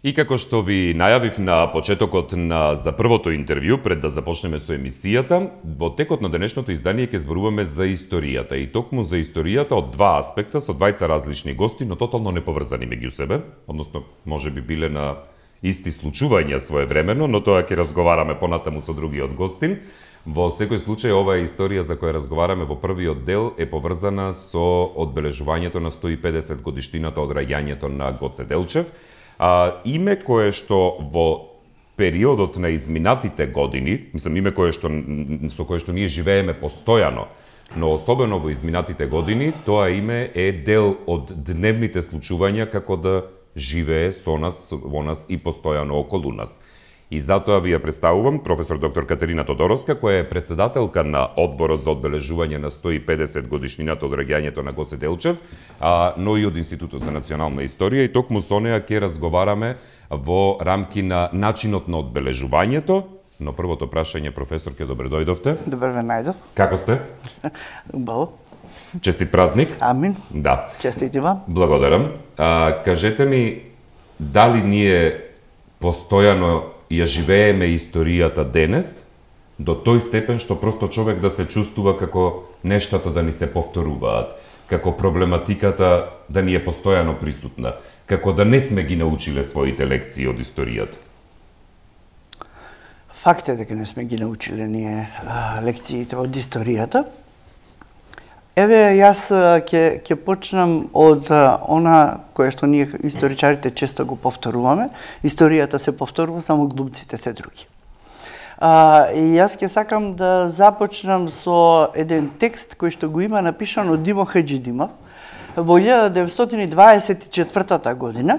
И како што ви најавив на почетокот за првото интервју, пред да започнеме со емисијата, во текот на денешното издание ќе зборуваме за историјата. И токму за историјата од два аспекта, со двајца различни гости, но тотално неповрзани меѓу себе, односно, може би биле на исти случувања своевремено, но тоа ќе разговараме понатаму со другиот гостин. Во секој случај, оваа историја за која разговараме во првиот дел е поврзана со одбележувањето на 150 годишнината од раѓањето на Гоце Делчев, име кое што во периодот на изминатите години, име кое што со кое што ние живееме постојано, но особено во изминатите години, тоа име е дел од дневните случувања како да живее со нас, во нас и постојано околу нас. И затоа ви ја представувам професор доктор Катерина Тодоровска, која е председателка на Одборот за одбележување на 150 годишнината од раѓањето на Гоце Делчев, но и од Институтот за национална историја, и токму со неа ќе разговараме во рамки на начинот на одбележувањето. Но првото прашање, професорке, добре дојдовте. Добре ве најдов. Како сте? Убаво. Честит празник. Амин. Да. Честити вам. Благодарам. Кажете ми, дали ние постојано ја живееме историјата денес, до тој степен што просто човек да се чувствува како нештата да ни се повторуваат, како проблематиката да ни е постојано присутна, како да не сме ги научиле своите лекции од историјата? Факт е дека не сме ги научиле ние лекциите од историјата. Еве, јас ќе почнам од она кое што ние историчарите често го повторуваме. Историјата се повторува, само глумците се други. И јас ќе сакам да започнам со еден текст кој што го има напишан од Димо Хаџидимов во 1924 година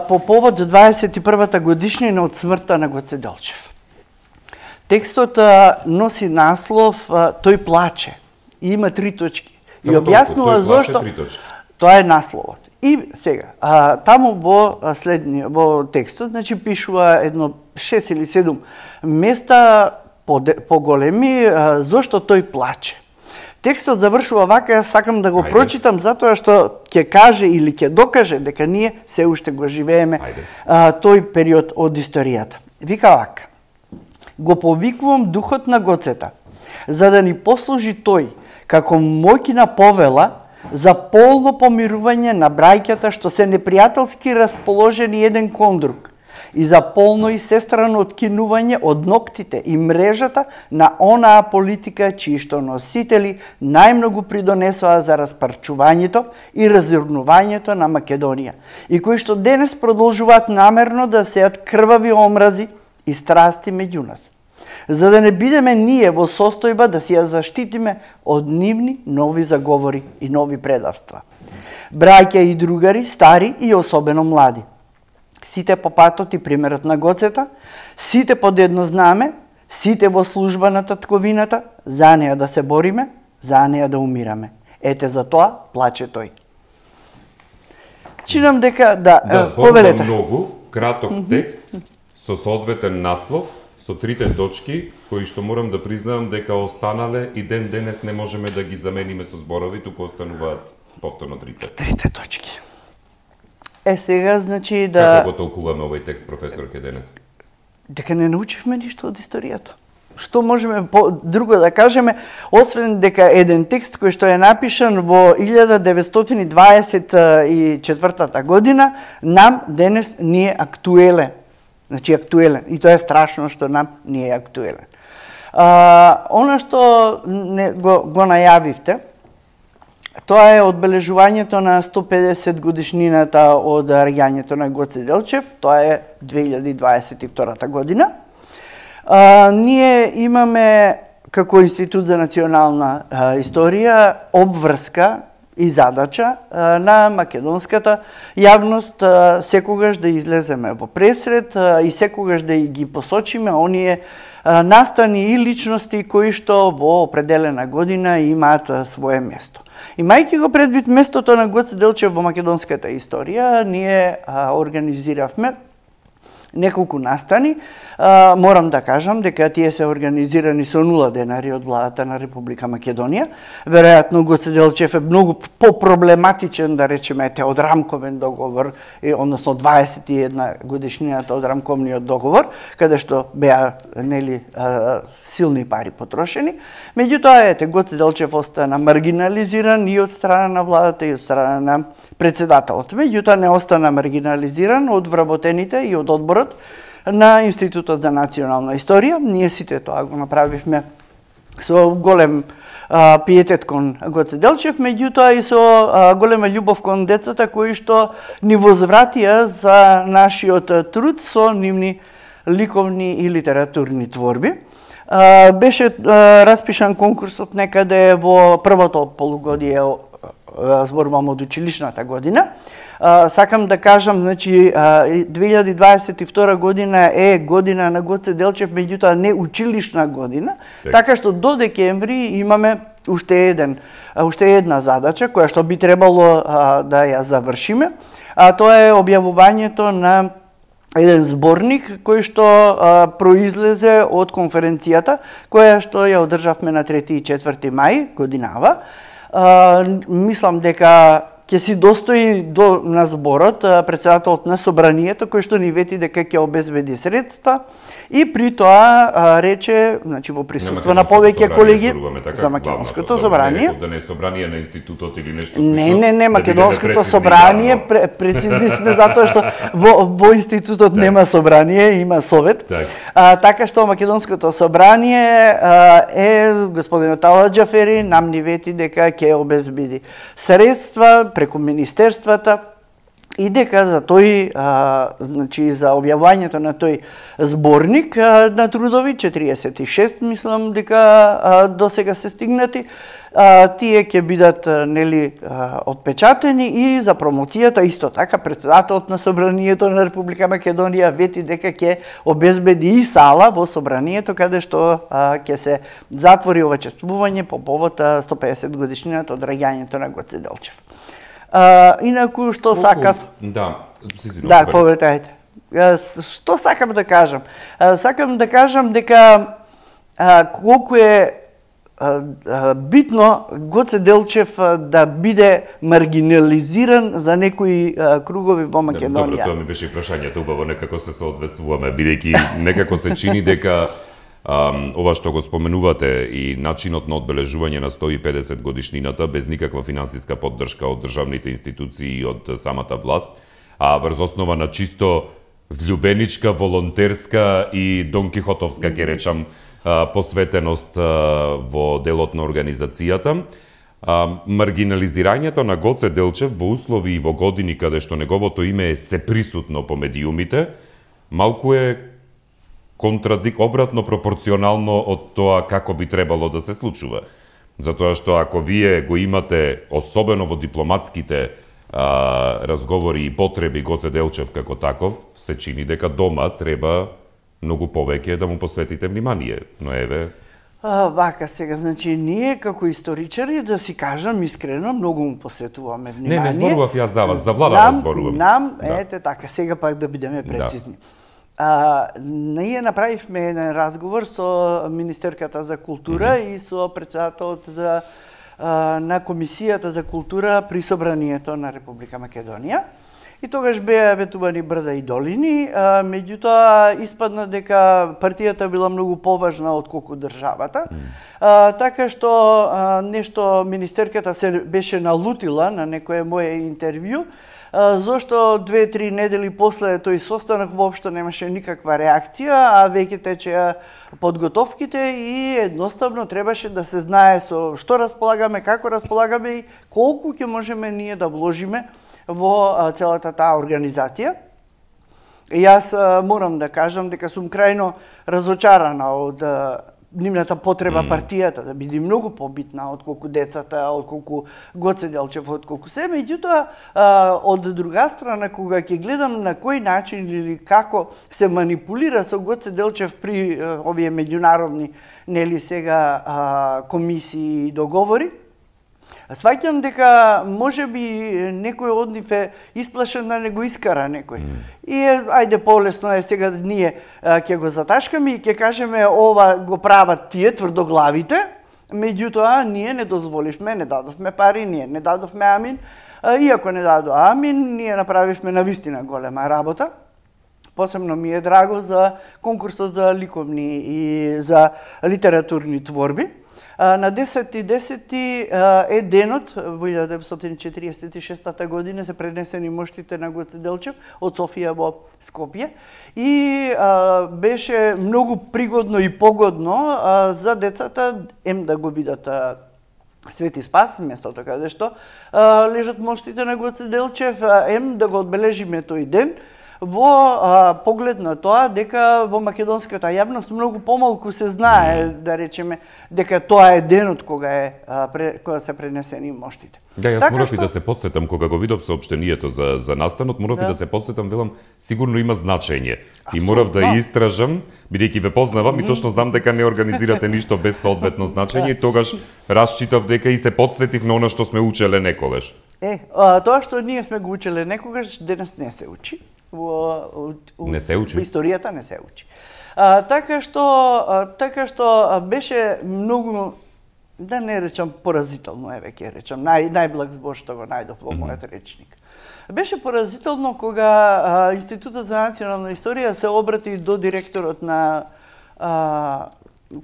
по повод 21-та годишнина од смртта на Гоце Делчев. Текстот носи наслов "Тој плаче" и има 3 точки. И објаснува зошто тоа е насловот. И сега, таму во текстот, значи пишува едно 6 или 7 места поголеми зошто тој плаче. Текстот завршува вака, јас сакам да го прочитам затоа што ќе каже или ќе докаже дека ние се уште го живееме тој период од историјата. Вика вака: "Го повикувам духот на Гоцета, за да ни послужи тој како моќна повела за полно помирување на браќата што се непријателски расположени еден кон друг и за полно и сестрано откинување од ноктите и мрежата на онаа политика чии што носители најмногу придонесоа за распарчувањето и разурнувањето на Македонија и кои што денес продолжуваат намерно да сеат крвави омрази и страсти меѓу нас, за да не бидеме ние во состојба да си ја заштитиме од нивни нови заговори и нови предавства. Браќа и другари, стари и особено млади, сите по патот и примерот на Гоцета, сите под едно знаме, сите во служба на татковината, за неа да се бориме, за неа да умираме. Ете за тоа плаче тој." Чинам дека зборувам многу краток текст со соодветен наслов, со 3 точки, кои што морам да признавам дека останале и ден денес не можеме да ги замениме со зборови, туку остануваат повторно 3 точки. Сега, значи Како го толкуваме овој текст, професорке, денес? Дека не научивме ништо од историјата. Што можеме друго да кажеме, освен дека еден текст кој што е напишан во 1924 година, нам денес не е актуелен. Значи актуелен. И тоа е страшно што нам не е актуелен. Она што го најавивте, тоа е одбележувањето на 150 годишнината од раѓањето на Гоце Делчев. Тоа е 2022 година. Ние имаме како Институт за национална историја обврска и задача на македонската јавност секогаш да излеземе во пресред и секогаш да ги посочиме оние настани и личности кои што во определена година имаат свое место. Имајќи го предвид местото на Гоце Делчев во македонската историја, ние организиравме неколку настани. Морам да кажам дека тие се организирани со 0 денари од владата на Република Македонија. Веројатно Гоце Делчев е многу попроблематичен, да речеме, од рамковен договор, односно 21 годишнината од рамковниот договор, каде што беа силни пари потрошени. Меѓутоа, Гоце Делчев остана маргинализиран и од страна на владата и од страна на председателот. Меѓутоа не остана маргинализиран од вработените и од одборот на Институтот за национална историја. Ние сите тоа го направивме со голем пиетет кон Гоце Делчев, меѓутоа и со голема љубов кон децата кои што ни возвратија за нашиот труд со нивни ликовни и литературни творби. Беше распишан конкурсот некаде во првото полугодие, зборувам од училишната година. Сакам да кажам, значи 2022 година е година на Гоце Делчев, меѓутоа не училишна година, така што до декември имаме уште една задача која што би требало да ја завршиме, а тоа е објавувањето на еден зборник кој што произлезе од конференцијата која што ја одржавме на 3 и 4 мај годинава. Мислам дека ќе си достои на зборот председателот на собранието кој што ни вети дека ќе обезбеди средства и при тоа рече, значи во присуство на повеќе колеги за македонското собрание. Да не е собрание на институтот или нешто слично. Не, македонското собрание, прецизни сме затоа што во институтот нема собрание, има совет. Така што македонското собрание господинот Ала Џафери нам ни вети дека ќе обезбеди средства преку министерствата и дека за тој, значи за објавувањето на тој зборник на трудови 46, мислам дека до сега се стигнати, тие ќе бидат отпечатени и за промоцијата исто така председателот на собранието на Република Македонија вети дека ќе обезбеди и сала во собранието каде што ќе се затвори овечествување по повод 150 годишнината од раѓањето на Гоце Делчев. Инаку што сакав... Да, поветајте. Што сакам да кажам? Сакам да кажам дека колку е битно Гоце Делчев да биде маргинализиран за некои кругови во Македонија. Добро, тоа ми беше прашањето, убаво некако се соодветствуваме, бидејќи некако се чини дека ова што го споменувате и начинот на одбележување на 150 годишнината без никаква финансиска поддршка од државните институции и од самата власт, а врз основа на чисто влюбеничка, волонтерска и донкихотовска, ќе речам, посветеност во делот на организацијата. Маргинализирањето на Гоце Делчев во услови и во години каде што неговото име е сеприсутно по медиумите, малку е обратно пропорционално од тоа како би требало да се случува. Затоа што ако вие го имате, особено во дипломатските разговори и потреби Гоце Делчев како таков, се чини дека дома треба многу повеќе да му посветите внимание. Но еве... Вака сега, значи, ние како историчари, да си кажам искрено, многу му посветуваме внимание. Не зборував јас за вас, за владата зборувам. Ете така, сега пак да бидеме прецизни. Ние направивме еден разговор со Министерката за култура и со председателот на Комисијата за култура при собранието на Република Македонија. И тогаш беа ветувани брда и долини, меѓутоа испадна дека партијата била многу поважна отколку државата. Така што нешто министерката се беше налутила на некое мое интервју, зошто 2-3 недели после тој состанок воопшто немаше никаква реакција, а веќе течеа подготовките и едноставно требаше да се знае со што располагаме, како располагаме и колку ќе можеме ние да вложиме во целата таа организација. И јас морам да кажам дека сум крајно разочарана од нивната потреба партијата да биде многу побитна отколку децата, отколку Гоце Делчев, отколку се. Меѓутоа, од друга страна, кога ќе гледам на кој начин или како се манипулира со Гоце Делчев при овие меѓународни, нели сега, комисии и договори, Сваќам дека може би некој од нив е исплашен да не го искара некој. И ајде полесно е сега ние ќе го заташкаме и ќе кажеме ова го прават тие тврдоглавите, меѓутоа ние не дозволивме, не дадовме пари, ние не дадовме амин. Иако не дадо амин, ние направивме навистина голема работа. Посебно ми е драго за конкурсот за ликовни и за литературни творби. На 10.10 е денот, во 1946 година се пренесени моштите на Гоце Делчев од Софија во Скопје и беше многу пригодно и погодно за децата да го видат Свети Спас, местото каде што лежат моштите на Гоце Делчев, да го одбележиме тој ден, во поглед на тоа дека во македонската јавност многу помалку се знае, да речеме, дека тоа е денот кога се пренесени моштите. Да, јас морав и да се потсетам кога го видов соопштението за настанот, морав и да се потсетам, велам, сигурно има значење. И морав да истражам, бидејќи ве познавам и точно знам дека не организирате ништо без соодветно значење, и тогаш расчитав дека и се потсетив на она што сме учеле некогаш. Тоа што ние сме го учеле некогаш, денес не се учи. Не се учи. Во историјата не се учи. Така што беше многу, да не речам поразително, еве ќе речам, најблаг збор што го најдов во мојот речник. Беше поразително кога Институтот за национална историја се обрати до директорот на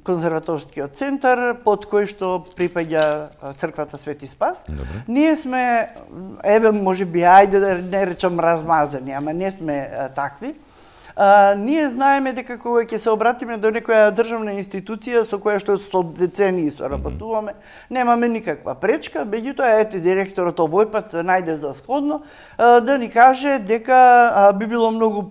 конзерваторскиот центар, под кој што припаѓа црквата Свети Спас. Добре. Ние сме, еве можеби, ајде да не речам размазани, ама не сме такви. Ние знаеме дека кога ќе се обратиме до некоја државна институција со која што со децении соработуваме, немаме никаква пречка, меѓутоа ете директорот овој пат најде за сходно да ни каже дека би било многу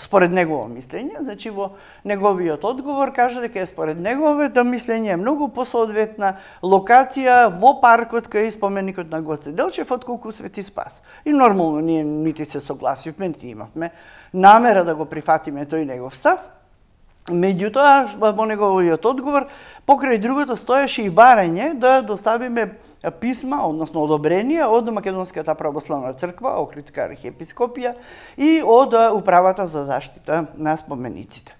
според негово мислење, значи во неговиот одговор кажа дека е според неговото мислење многу посоодветна локација во паркот кај споменикот на Гоце Делчев отколку Свети Спас. И нормално ние нити се согласивме, нити имавме намера да го прифатиме тој негов став. Меѓутоа, во неговиот одговор, покрај другото стоеше и барање да доставиме писма, односно одобрение од Македонската православна црква, Охридска архиепископија и од Управата за заштита на спомениците.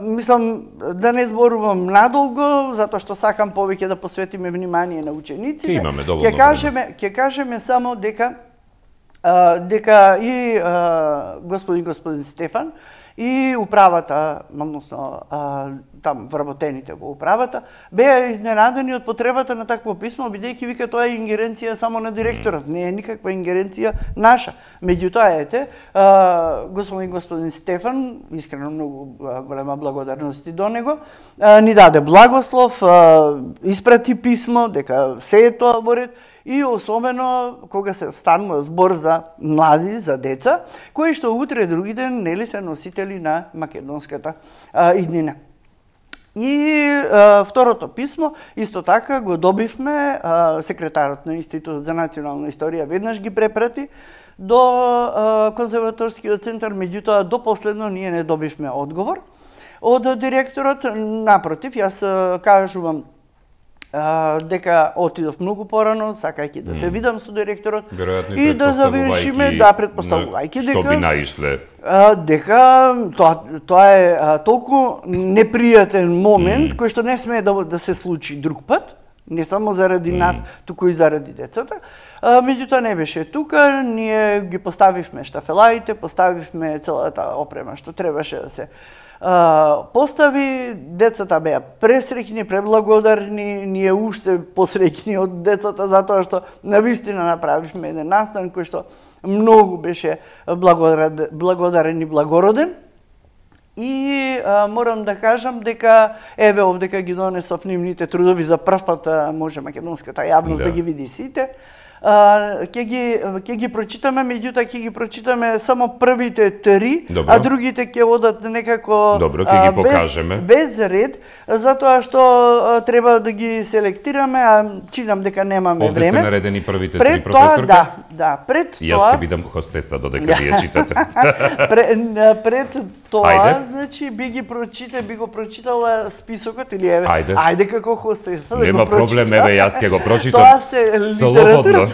Мислам да не зборувам надолго, затоа што сакам повеќе да посветиме внимание на учениците. Имаме доволно време. Ќе кажеме само дека и господин Стефан и управата, односно там вработените во управата, беа изненадени од потребата на такво писмо, бидејќи вика тоа е ингеренција само на директорот, не е никаква ингеренција наша. Меѓутоа ете, господин Стефан, искрено многу голема благодарност и до него, ни даде благослов, испрати писмо дека се е тоа во ред. И особено кога се станува збор за млади, за деца, кои што утре други ден нели се носители на македонската иднина. И второто писмо исто така го добивме, секретарот на Институтот за национална историја веднаш ги препрати до конзерваторскиот центар, меѓутоа до последно ние не добивме одговор од директорот. Напротив, јас кажувам дека отидов многу порано, сакајќи да се видам со директорот и да завршиме, предпоставувајќи дека што би наишле. Дека тоа е толку непријатен момент кој што не смее да се случи друг пат, не само заради нас, туку и заради децата. Меѓутоа не беше тука, ние ги поставивме штафелаите, поставивме целата опрема што требаше да се постави, децата беа пресреќни, преблагодарни, ние уште посреќни од децата затоа што навистина направивме еден настан кој што многу беше благодарен и благороден. И морам да кажам дека еве овдека ги донесов нивните трудови за прв пат, може македонската јавност да ги види сите. Ќе ги прочитаме, меѓутоа ќе ги прочитаме само првите 3, а другите ќе одат некако без ред, затоа што треба да ги селектираме, а чинам дека немаме време. Овде се наредени првите 3, професорка? пред Јас тоа... ќе бидам хостеса додека вие читате. Пред тоа, Ајде. значи, би го прочитала списокот или еве, Ајде. ајде како хостеса да Нема го прочитам. проблем, еве јас ќе го прочитам. Тоа се Слободно.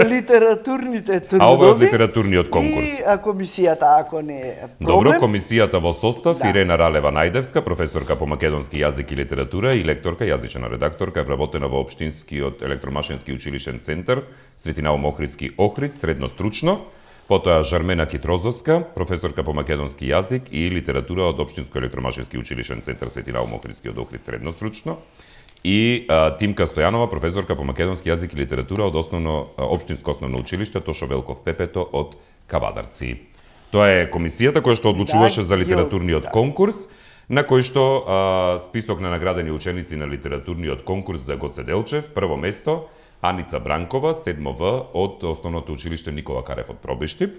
литературните трудови. А ова е од литературниот конкурс. И комисијата, ако не е проблем. Добро, комисијата во состав Ирена Ралева Најдевска, професорка по македонски јазик и литература и лекторка, јазична редакторка, е вработена во Општинскиот електромашински училишен центар Светинаум Охридски Охрид, средно стручно. Потоа Жармена Китрозовска, професорка по македонски јазик и литература од Општинско електромашински училишен центар Светинаум Охридски од Охрид, средно стручно. И Тимка Стојанова, професорка по македонски јазик и литература од Општинско основно училиште Тошо Велков Пепето од Кавадарци. Тоа е комисијата која што одлучуваше за литературниот конкурс, на кој што список на наградени ученици на литературниот конкурс за Гоце Делчев, прво место Аница Бранкова, 7В од Основното училиште Никола Карев од Пробиштип,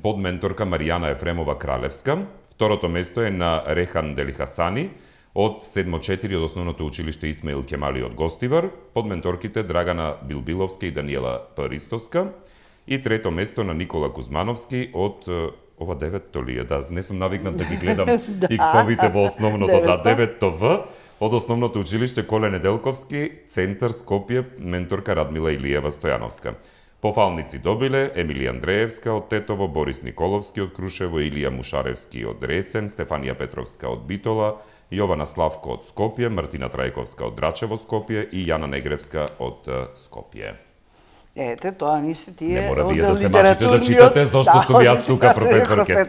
подменторка Маријана Ефремова Кралевска, второто место е на Рехан Делихасани од 7-4 од Основното училиште Исмаил Кемали од Гостивар, подменторките Драгана Билбиловска и Даниела Паристоска, и трето место на Никола Кузмановски од ова 9-то ли е, не сум навикнат да ги гледам иксовите во основното, 9-то В, од Основното училиште Коле Неделковски, Центар Скопје, менторка Радмила Илиева Стојановска. Пофалници добиле Емилија Андреевска од Тетово, Борис Николовски од Крушево, Илија Мушаревски од Ресен, Стефанија Петровска од Битола, Јована Славко од Скопје, Мартина Трајковска од Драчево Скопје и Јана Негревска од Скопје. Ете, тоа не се тие... Не мора вие да се мачите да читате, зашто сум јас тука, професорке.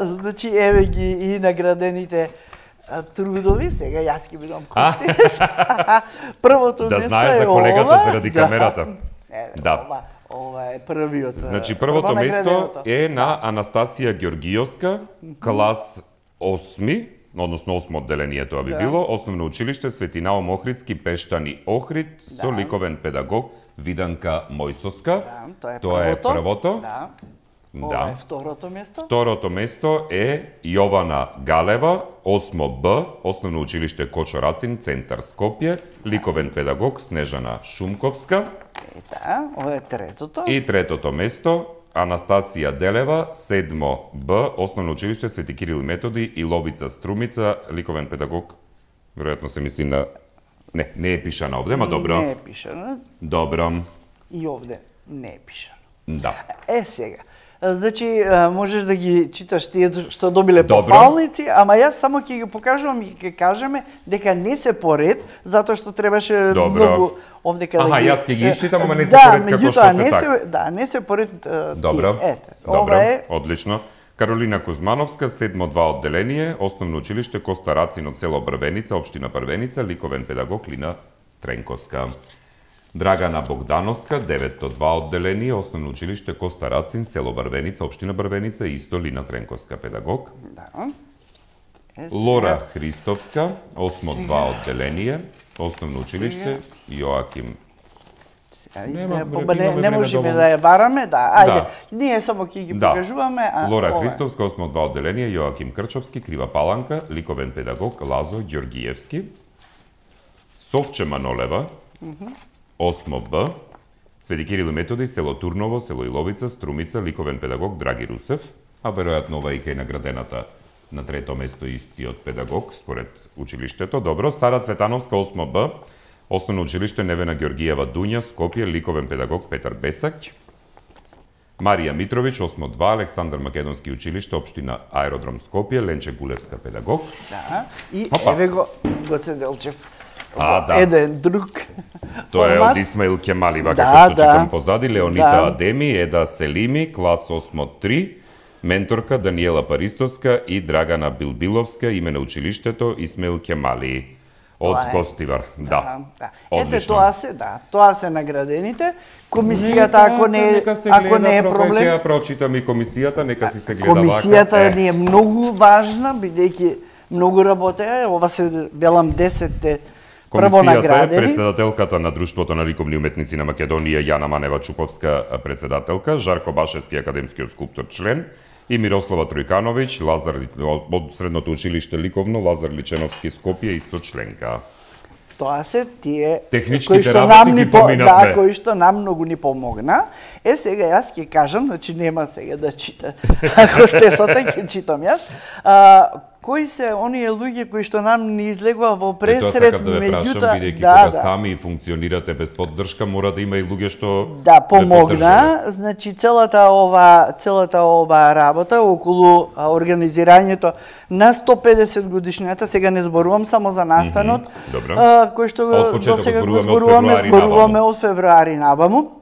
Значи, еве ги и наградените трудови, сега јас ќе бидам хостес. Првото место е ова. Да знаеш за колегата заради камерата. Да. Ова е првиот. Значи, првото место е на Анастасија Ѓоргијовска, клас 8, односно 8 одделение тоа би било, Основно училиште Светинаум Охридски Пештани Охрид, со ликовен педагог Виданка Мојсоска. Тоа е првото. Ова е второто место. Второто место е Јована Галева, 8Б, Основно училиште Кочо Рацин, Центар Скопје, ликовен педагог Снежана Шумковска. Ова е третото. И третото место Анастасија Делева, 7Б, Основно училиште Свети Кирил и Методи и Ловица Струмица, ликовен педагог. Веројатно се мисли на... Не е пишано овде, ма добро. Не е пишано. Добро. И овде не е пишано. Да. Сега. Значи, можеш да ги читаш тие што добиле пофалници, ама јас само ќе ги покажувам и ќе кажеме дека не се поред, затоа што требаше многу овде каде ги... јас ќе ги исчитам, ама не се поред како што се така. Да, не се поред Добро, ова е... одлично. Каролина Кузмановска, 7-2 одделение, Основно училиште Коста Рацин од село Брвеница, општина Брвеница, ликовен педагог Лина Тренковска. Драгана Богдановска, 9-2 одделение, Основно училиште Коста Рацин, село Брвеница, општина Брвеница, исто Лина Тренковска педагог. Лора Христовска, 8-2 одделение, Основно училиште Јоаким. Не можеме да ја бараме, ајде, ние само ќе ги покажуваме. Лора Христовска, 8-2 одделение, Јоаким Крчовски, Крива Паланка, ликовен педагог Лазо Ѓоргиевски. Совче Манолева, 8Б, Свети Кирил и Методи, село Турново, село Иловица, Струмица, ликовен педагог Драги Русев, а веројатно ова и кај наградената на трето место истиот педагог, според училиштето. Добро, Сара Цветановска, 8Б, Основно училиште Невена Ѓоргиева Дуња, Скопје, ликовен педагог Петар Бесак. Марија Митровиќ, 8-2, Александар Македонски училиште, општина Аеродром Скопје, Ленче Гулевска педагог. Да, и еве го Гоце Делчев. Да. Еден друг Тоа е од Исмаил Кемали, вака што читам позади, Леонита Адеми, Еда Селими, клас 8-3, менторка Даниела Паристоска и Драгана Билбиловска, име на училиштето Исмаил Кемали. Од Гостивар, да. Ете, тоа се наградените. Комисијата, ако не е проблем... Ќе ја прочитам и комисијата, нека си се гледа вака. Комисијата ни е многу важна, бидејќи многу работеа, ова се велам 10-те прво наградени. Комисијата е председателката на Друштвото на ликовни уметници на Македонија, Јана Манева Чуповска, председателка, Жарко Башевски, академскиот скулптор, член, и Мирослава Тројкановиќ, од Средното училиште ликовно, Лазар Личеновски, Скопје, исто членка. Тоа се тие техничките работи ги поминавме. Да, кои што нам многу ни помогна. Сега јас ќе кажам, значи нема сега да чита. Ако сте сата ќе читам јас. Кои се оние луѓе кои што нам не излегува во пресред, меѓутоа, бидејќи кога сами функционирате без поддршка, мора да има и луѓе што помогна. Значи целата ова работа околу организирањето на 150 годишнината, сега не зборувам само за настанот, кој што досега го зборуваме од февруари наваму.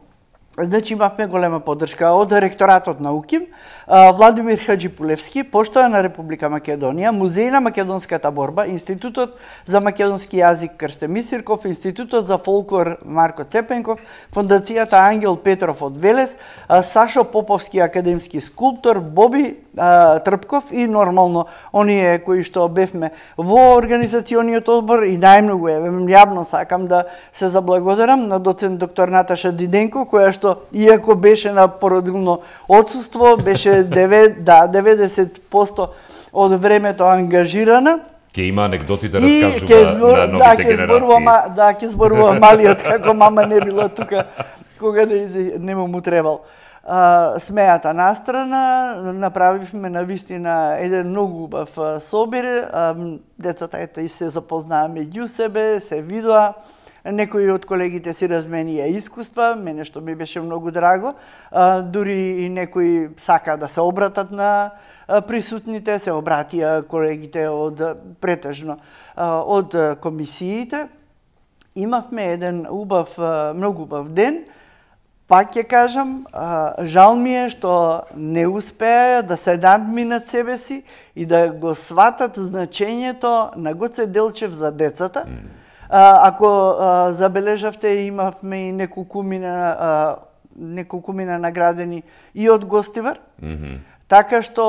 Значи имавме голема поддршка од ректоратот на УКИМ, Владимир Хаджипулевски, Поштата на Република Македонија, Музеј на македонската борба, Институтот за македонски јазик Крсте Мисирков, Институтот за фолклор Марко Цепенков, Фондацијата Ангел Петров од Велес, Сашо Поповски академски скулптор, Боби Трпков и нормално оние кои што бевме во организациониот одбор и најмногу јавно сакам да се заблагодарам на доцент доктор Наташа Диденко, која што иако беше на породилно отсуство, беше 90% од времето ангажирана. Ке има анекдоти да раскажува на новите генерации. Ќе зборува малиот како мама не била тука кога не му требал. Смејата настрана, направивме навистина еден многу убав собир, децата и се запознаа меѓу себе, се видоа. Некои од колегите си разменија искуства, мене што ми беше многу драго, дури и некои сака да се обратат на присутните, се обратија колегите од претежно од комисиите. Имавме еден многу убав ден. Пак ќе кажам, жал ми е што не успеа да се надминат себе си и да го сватат значењето на Гоце Делчев за децата. Ако забележавте, имавме и неколкумина наградени и од Гостивар. Така што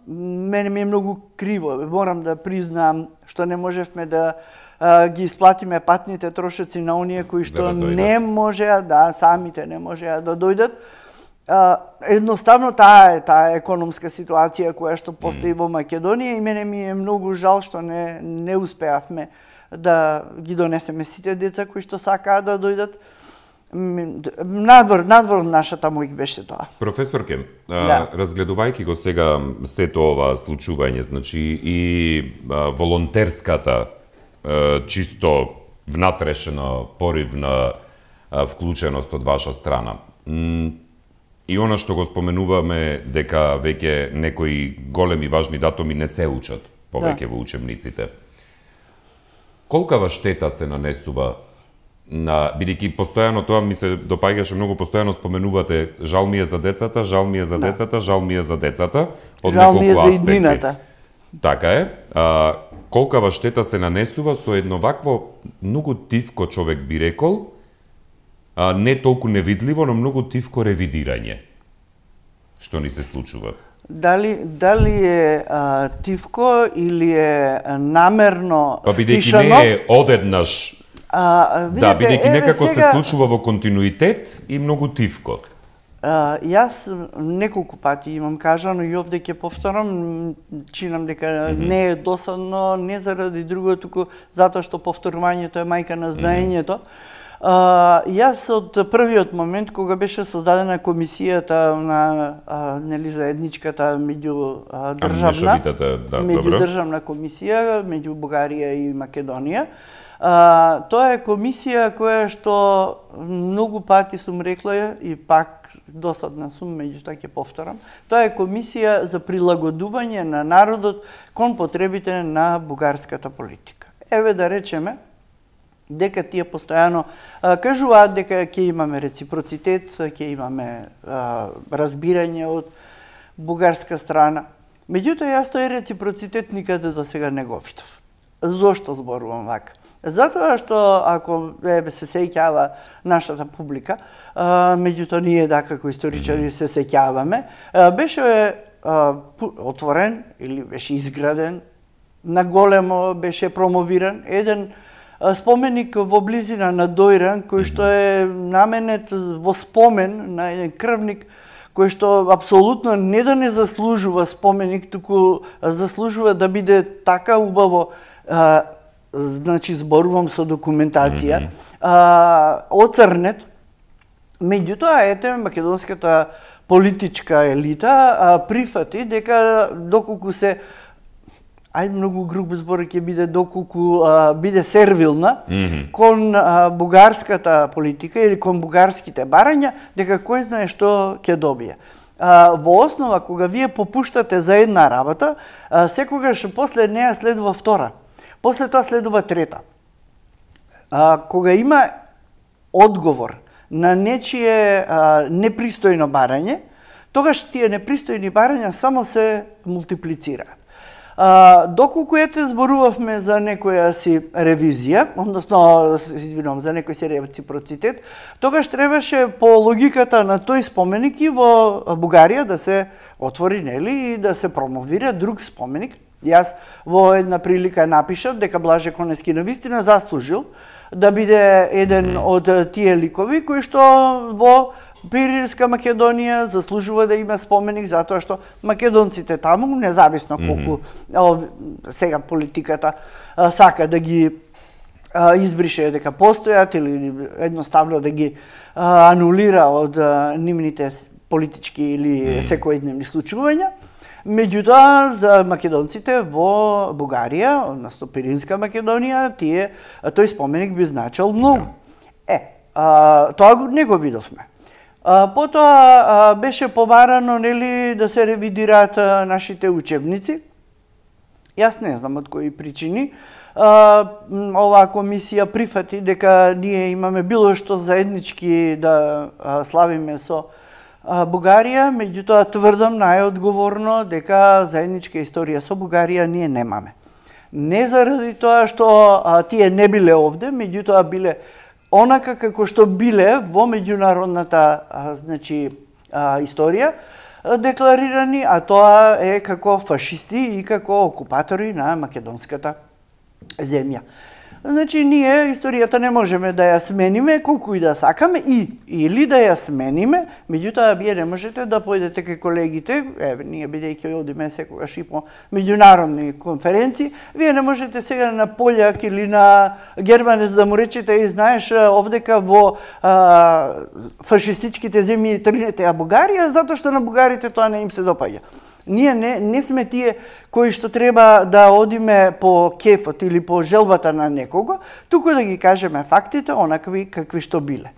мене ми е многу криво, морам да признам што не можевме да ги исплатиме патните трошоци на оние кои што не можеа, самите не можеа да дојдат. Едноставно таа економска ситуација која што постои во Македонија и мене ми е многу жал што не успеавме да ги донесеме сите деца кои што сакаа да дојдат. Надвор од нашата мојк беше тоа. Професорке, разгледувајќи го сега сето ова случување, значи и волонтерската, чисто внатрешна, поривна вклученост од ваша страна, и она што го споменуваме дека веќе некои големи важни датуми не се учат повеќе во учебниците. Колкава штета се нанесува бидејќи постојано тоа ми се допаѓаше многу, постојано споменувате жал ми е за децата, жал ми е за децата, жал ми е за децата, од неколку аспекти. Така е. Колкава штета се нанесува со едно вакво многу тивко, човек би рекол, не толку невидливо, но многу тивко ревидирање што ни се случува. Дали е тивко или е намерно стишано? Бидејќи не е одеднаш. Бидејќи некако се случува во континуитет и многу тивко. Јас неколку пати имам кажано и овде ќе повторам, чинам дека не е досадно, не заради друго, туку затоа што повторувањето е мајка на знаењето. Јас од првиот момент кога беше создадена комисијата на заедничката меѓудржавна комисија меѓу Бугарија и Македонија, тоа е комисија која што многу пати сум рекла и пак досадна сум, меѓутоа ќе повторам. Тоа е комисија за прилагодување на народот кон потребите на бугарската политика. Еве да речеме дека тие постојано кажуваат дека ќе имаме реципроцитет, ќе имаме разбирање од бугарска страна. Меѓутоа јас тој реципроцитет никаде до сега не го видов. Зошто зборувам вака? Затоа што ако се сеќава нашата публика, меѓутоа ние како историчари се сеќаваме, беше отворен или беше изграден, наголемо беше промовиран еден споменик во близина на Дојран, кој што е наменет во спомен на еден крвник кој што апсолутно не да не заслужува споменик, туку заслужува да биде така убаво значи зборувам со документација, оцрнет. Меѓутоа, ете, македонската политичка елита прифати дека доколку се многу груб збор ќе биде, доколку биде сервилна кон бугарската политика или кон бугарските барања, дека кој знае што ќе добие. Во основа, кога вие попуштате за една работа, секогаш после неа следува втора. После тоа следува трета. Кога има одговор на нечие непристојно барање, тогаш тие непристојни барања само се мултиплицираат. Доколку ете зборувавме за некоја си ревизија, односно, извинувам, за некој си реципроцитет, тогаш требаше по логиката на тој споменик и во Бугарија да се отвори, нели, и да се промовира друг споменик. Јас во една прилика напишав дека Блаже Конески навистина заслужил да биде еден од тие ликови кои што во Пиринска Македонија заслужува да има споменик затоа што македонците таму, независно колку сега политиката сака да ги избрише дека постојат или едноставно да ги анулира од нивните политички или секојдневни случувања. Меѓутоа, за македонците во Бугарија, односно Пиринска Македонија, тој споменик би значил многу. Тоа не го видовме. Потоа беше побарано, нели, да се ревидираат нашите учебници. Јас не знам од кои причини. Оваа комисија прифати дека ние имаме било што заеднички да славиме со Бугарија, меѓутоа тврдам најодговорно дека заедничка историја со Бугарија ние немаме. Не заради тоа што тие не биле овде, меѓутоа биле онака како што биле во меѓународната значи историја декларирани, а тоа е како фашисти и како окупатори на македонската земја. Значи, ние историјата не можеме да ја смениме колку и да сакаме, или да ја смениме, меѓутоа вие не можете да појдете кај колегите, ние бидејќи одиме секогаш и по меѓународни конференции, вие не можете сега на пољак или на германец да му речете и знаеш овдека во фашистичките земји тргнете ја Бугарија, затоа што на бугарите тоа не им се допаѓа. Ние не сме тие кои што треба да одиме по кефот или по желбата на некого, туку да ги кажеме фактите онакви какви што биле.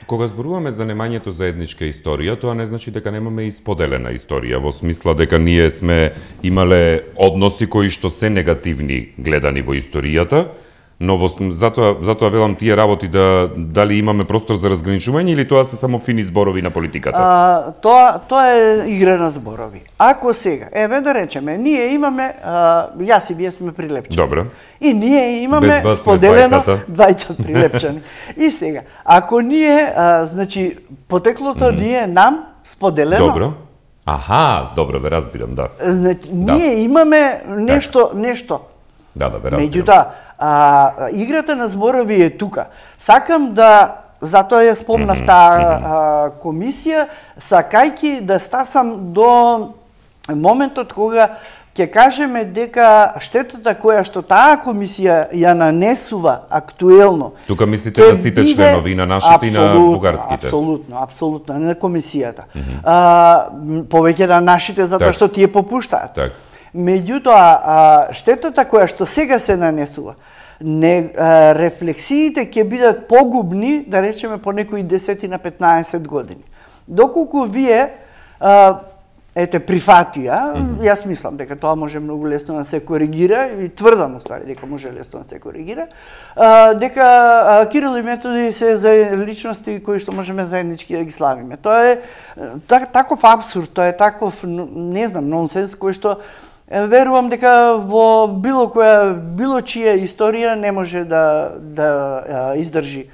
Кога зборуваме за немањето заедничка историја, тоа не значи дека немаме и споделена историја, во смисла дека ние сме имале односи кои што се негативни гледани во историјата, но затоа велам тие работи дали имаме простор за разграничување или тоа се само фини зборови на политиката? Тоа е игра на зборови. Ако сега, да речеме, ние имаме, јас и вие сме прилепчени. Добро. И ние имаме споделено двајца прилепчени. И сега, ако ние, значи, потеклото ние нам споделено. Добро. Добро, ве разбирам, да. Значи, ние имаме нешто. Да, ве разбирам. Меѓутоа, играта на зборови е тука. Сакам затоа ја спомнав таа комисија, сакајќи да стасам до моментот кога ќе кажеме дека штетата која што таа комисија ја нанесува актуелно. Тука мислите на сите членови, и на нашите и на бугарските? Апсолутно, на комисијата. Повеќе на нашите затоа што тие попуштаат. Меѓутоа, штетата која што сега се нанесува, рефлексиите ќе бидат погубни, да речеме, по некои 10 на 15 години. Доколку вие прифатија, јас мислам дека тоа може многу лесно да се коригира и тврдам уствари дека може лесно да се коригира, дека Кирил и Методи се за личности кои што можеме заеднички да ги славиме. Тоа е таков апсурд, тоа е таков, не знам, нонсенс кој што верувам дека во било чија историја не може да издржи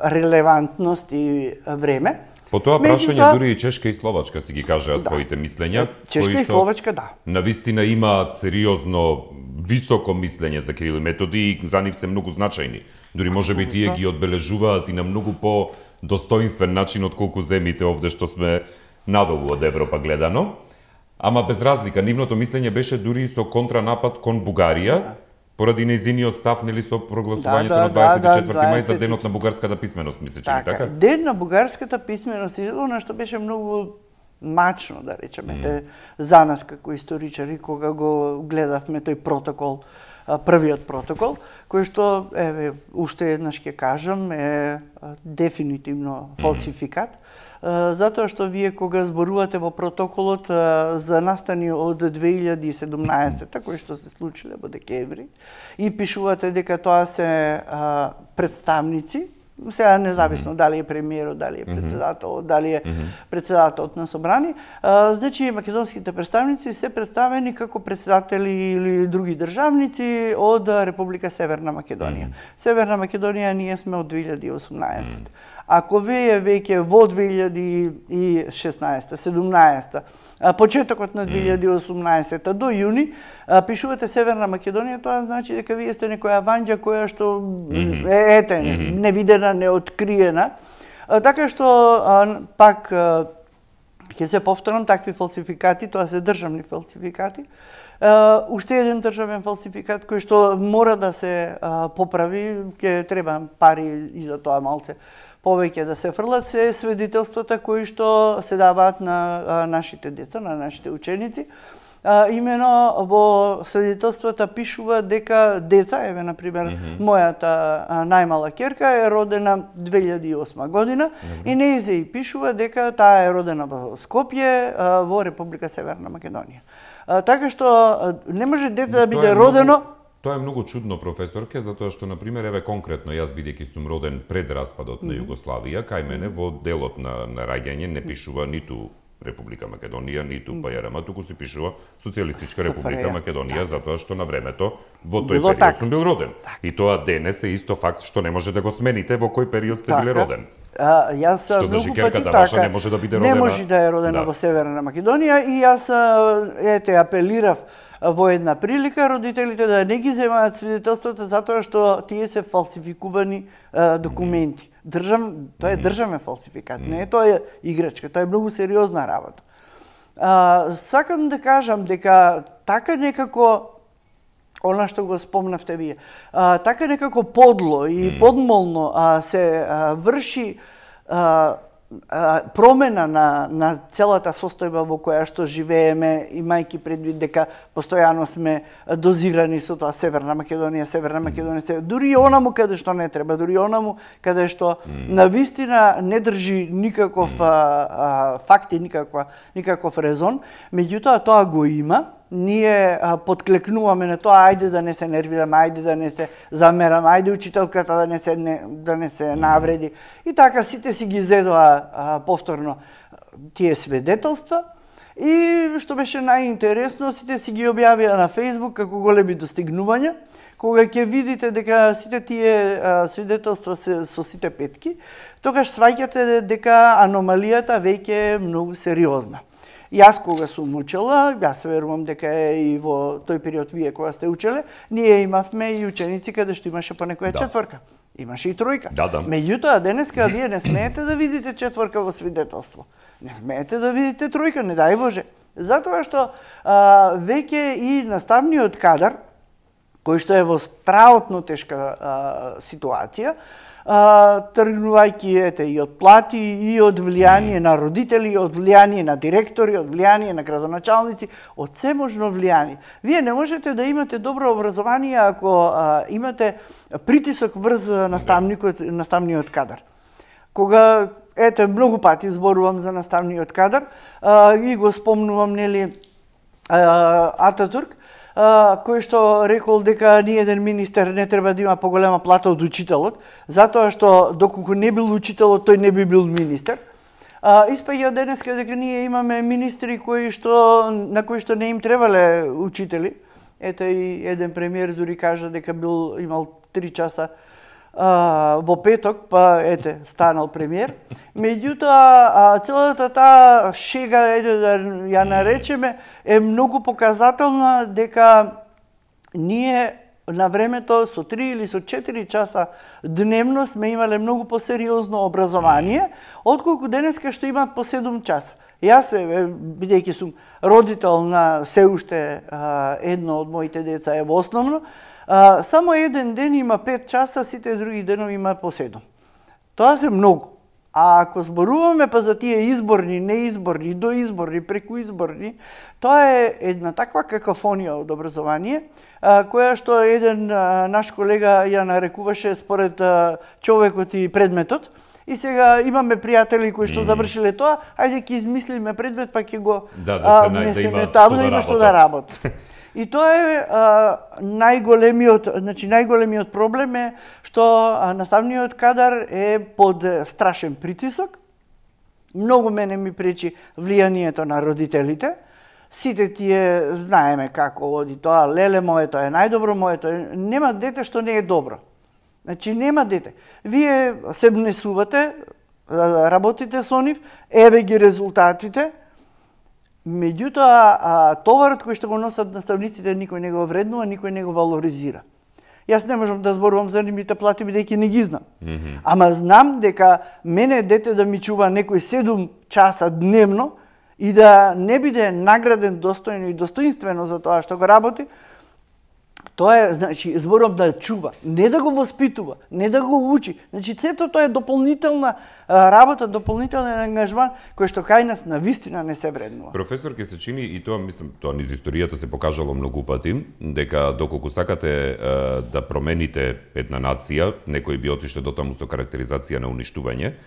релевантност и време. По тоа прашање дури и Чешка и Словачка си ги кажаа своите мислења, Чешка и Словачка, навистина имаат сериозно високо мислење за Кирил и Методи и за нив се многу значајни. Дури можеби тие ги одбележуваат и на многу по-достоинствен начин отколку земите овде што сме надолу од Европа гледано. Ама без разлика, нивното мислење беше дури со контранапад кон Бугарија, Поради нејзиниот став, нели, со прогласувањето на 24 мај за денот на бугарската писменост, мислече ли така? Ден на бугарската писменост и она што беше многу мачно, да речеме, за нас како историчари, кога го гледавме тој протокол, првиот протокол, кој што, еве, уште еднаш ќе кажам, е дефинитивно фалсификат, затоа што вие кога зборувате во протоколот за настани од 2017, кои што се случиле во декември, и пишувате дека тоа се представници, сега независно дали е премиерот, дали е председателот, дали е председателот на собрани, значи македонските представници се представени како председатели или други државници од Република Северна Македонија. Северна Македонија ние сме од 2018. Ако вие веќе во 2016, 17, почетокот на 2018 до јуни пишувате Северна Македонија, тоа значи дека вие сте некоја ванџа која што ете невидена, неоткриена. Така што пак ќе се повторам, такви фалсификати, тоа се државни фалсификати. Уште еден државен фалсификат кој што мора да се поправи, ќе треба пари и за тоа малце повеќе да се фрлат, се свидетелствата кои што се даваат на нашите деца, на нашите ученици. Имено во свидетелствата пишува дека деца, еве например мојата најмала ќерка е родена 2008 година и нејзе и пишува дека таа е родена во Скопје, во Република Северна Македонија. Така што не може дете да биде родено. Тоа е многу чудно, професорке, затоа што, например, еве конкретно, јас бидејќи сум роден пред распадот на Југославија, кај мене во делот на раѓање не пишува ниту Република Македонија, ниту ПЈРМ, туку се пишува Социјалистичка Република Македонија, затоа што на времето во тој период сум бил роден. И тоа денес е исто факт што не може да го смените во кој период сте биле роден. Јас што значи ќерката ваша не може да биде родена. Не може да е родена во Северна Македонија и јас апелирав во една прилика родителите да не ги земаат свидетелствата затоа што тие се фалсификувани документи. Тоа е државен фалсификат, не е тоа играчка, тоа е многу сериозна работа. Сакам да кажам дека така некако она што го спомнавте вие, така некако подло и подмолно се врши промена на целата состојба во која што живееме, имајќи предвид дека постојано сме дозирани со тоа Северна Македонија, дури и онаму каде што не треба, дури онаму каде што навистина не држи никаков факт и никаков резон, меѓутоа тоа го има. Ние подклекнуваме на тоа, ајде да не се нервираме, ајде да не се замераме, ајде учителката да не се навреди. И така сите си ги зедоа повторно тие свидетелства. И што беше најинтересно, сите си ги објавија на Facebook како големи достигнувања. Кога ќе видите дека сите тие свидетелства се со сите петки, тогаш сваќате дека аномалијата веќе е многу сериозна. Јас кога сум учела, јас верувам дека и во тој период вие кога сте учеле, ние имавме и ученици каде што имаше по некоја четворка. Имаше и тројка. Меѓутоа, денеска вие не смеете да видите четворка во свидетелство. Не смеете да видите тројка, не дај Боже. Затоа што веќе и наставниот кадар, кој што е во страотно тешка ситуација, тргнувајќи и од плати, и од влијание на родители, и од влијание на директори, од влијание на градоначалници, од се можно влијание. Вие не можете да имате добро образование ако имате притисок врз наставниот кадар. Кога, многу пати зборувам за наставниот кадар, и го спомнувам, нели, Ататурк, кој што рекол дека ни еден министер не треба да има поголема плата од учителот, затоа што доколку не бил учителот, тој не би бил министер. Испаѓа денеска дека ние имаме министри на кои што не им требале учители. Ете и еден премиер дури кажа дека имал 3 часа во петок, па станал премиер. Меѓутоа, целата таа шега, да ја наречеме, е многу показателна дека ние на времето со 3 или со 4 часа дневно сме имале многу посериозно образование, отколку денеска што имаат по 7 часа. Јас, бидејќи сум родител на се уште едно од моите деца е во основно, Само еден ден има 5 часа, сите други денови има по 7. Тоа се многу. А ако зборуваме па за тие изборни, неизборни, доизборни, прекуизборни, тоа е една таква какафонија од образование, која што еден наш колега ја нарекуваше според човекот и предметот. И сега имаме пријатели кои што завршиле тоа, ајде ќе измислиме предмет па ќе го внесеме таму да има што да работат. И тоа е најголемиот проблем е што наставниот кадар е под страшен притисок. Многу мене ми пречи влијанието на родителите. Сите тие знаеме како оди тоа, леле моето е најдобро, моето е... Нема дете што не е добро. Значи нема дете. Вие се внесувате, работите со нив, еве ги резултатите. Меѓутоа, товарот кој што го носат наставниците никој не го вреднува, никој не го валоризира. Јас не можам да зборувам за нивните плати, бидејќи не ги знам. Ама знам дека мене дете да ми чува некој 7 часа дневно и да не биде награден достојно и достоинствено за тоа што го работи, тоа е, значи, зборувам да чува, не да го воспитува, не да го учи. Значи, сето тоа е дополнителна работа, дополнителен ангажман, кој што кај нас навистина не се вреднува. Професор, ке се чини, и тоа, мислам, тоа низ историјата се покажало многу пати, дека доколку сакате да промените една нација, некој би отишле до таму со карактеризација на уништување,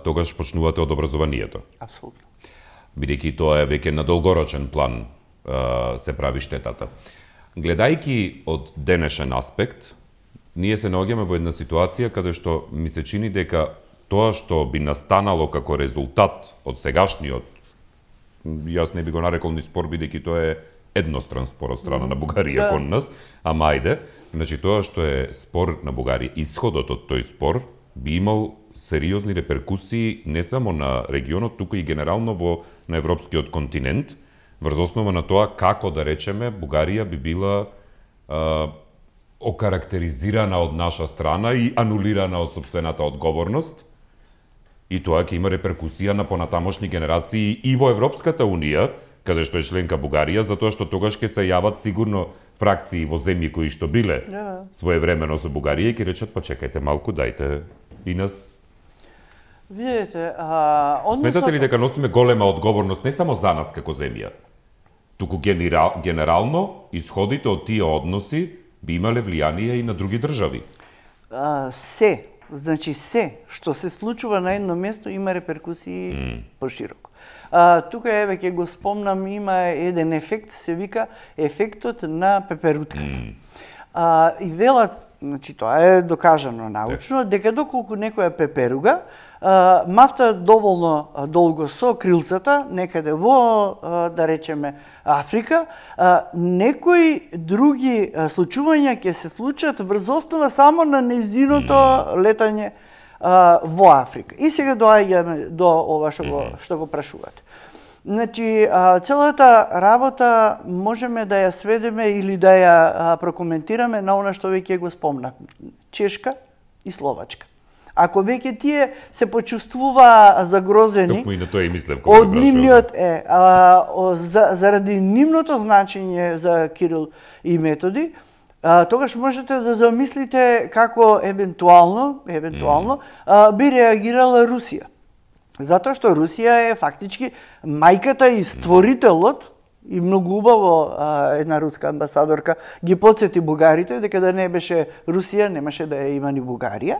тогаш почнувате од образованието. Апсолутно. Бидејќи тоа е веќе на долгорочен план се прави штетата. Гледајќи од денешен аспект, ние се наоѓаме во една ситуација каде што ми се чини дека тоа што би настанало како резултат од сегашниот, јас не би го нарекол ни спор, бидејќи тоа е едностран спор од страна на Бугарија кон нас, ама ајде, значи тоа што е спор на Бугарија, исходот од тој спор би имал сериозни реперкусии не само на регионот, туку и генерално на европскиот континент, врз основа на тоа како, да речеме, Бугарија би била окарактеризирана од наша страна и анулирана од сопствената одговорност. И тоа ќе има реперкусија на понатамошни генерации и во Европската Унија, каде што е членка Бугарија, затоа што тогаш ќе се јават сигурно фракции во земји кои што биле своевремено со Бугарија и ќе речат, па чекајте малку, дајте и нас. Видете, Сметате ли дека носиме голема одговорност не само за нас како земја, туку генерално исходите од тие односи би имале влијание и на други држави? Значи се што се случува на едно место има реперкусии пошироко. Тука еве ќе го спомнам, има еден ефект, се вика ефектот на пеперутка. И велат, значи тоа е докажано научно, дека доколку некоја пеперуга мафта доволно долго со крилцата, некаде во, да речеме, Африка, некои други случувања ќе се случат врз основа само на незиното летање во Африка. И сега доаѓаме до ова што го прашувате. Значи, целата работа можеме да ја сведеме или да ја прокоментираме на она што веќе го спомнав. Чешка и Словачка. Ако веќе тие се почувствува загрозени, токму и на тоа и мислев кога од нивниот заради нивното значење за Кирил и Методи, тогаш можете да замислите како евентуално би реагирала Русија. Затоа што Русија е фактички мајката и створителот, и многу убаво една руска амбасадорка ги потсети бугарите дека да не беше Русија, немаше да ја има ни Бугарија.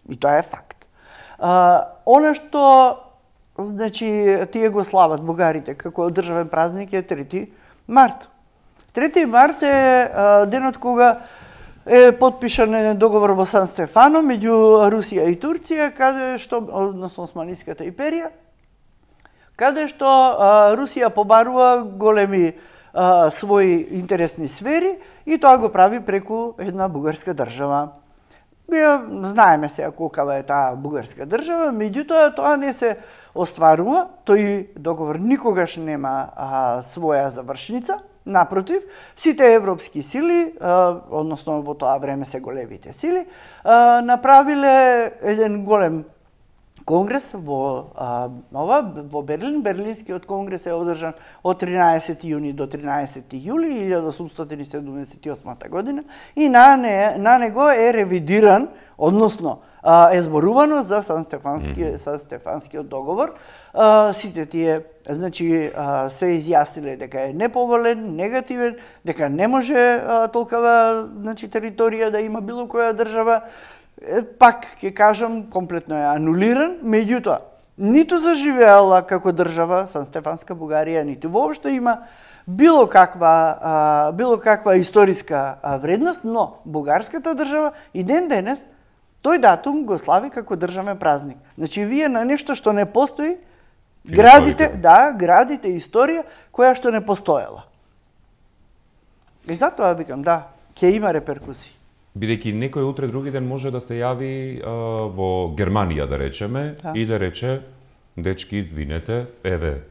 И тоа е факт. Она што, значи, тие го слават бугарите како државен празник е 3 март. 3 март е денот кога е подпишан договор во Сан Стефано меѓу Русија и Турција, каде што, односно Османиската империја, каде што Русија побарува големи своји интересни сфери и тоа го прави преку една бугарска држава. Знаеме сега колкава е таа бугарска држава, меѓутоа тоа не се остварува, тој договор никогаш нема своја завршница. Напротив, сите европски сили, односно во тоа време се големите сили, направиле еден голем конгрес во Берлин. Берлинскиот конгрес е одржан од 13 јуни до 13 јули 1878 година и на него е ревидиран, односно е зборувано за Сан-Стефанскиот договор. Сите тие значи се изјасниле дека е неповолен, негативен, дека не може толкова значи територија да има било која држава. Пак ќе кажам, комплетно е анулиран, меѓутоа ниту заживеала како држава Сан-Стефанска Бугарија, ниту воопшто има било каква историска вредност, но бугарската држава и ден денес тој датум го слави како државен празник. Значи вие на нешто што не постои градите историја која што не постоела. И затоа викам, ќе има реперкусии. Бидејќи некој утре други ден може да се јави во Германија, да речеме, и да рече, дечки, извинете, еве,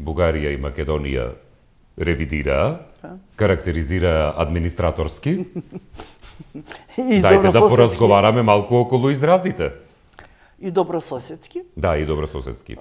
Бугарија и Македонија ревидираа, карактеризираа администраторски. Дајте да поразговараме малку околу изразите. И добрососедски. Да, и добрососедски.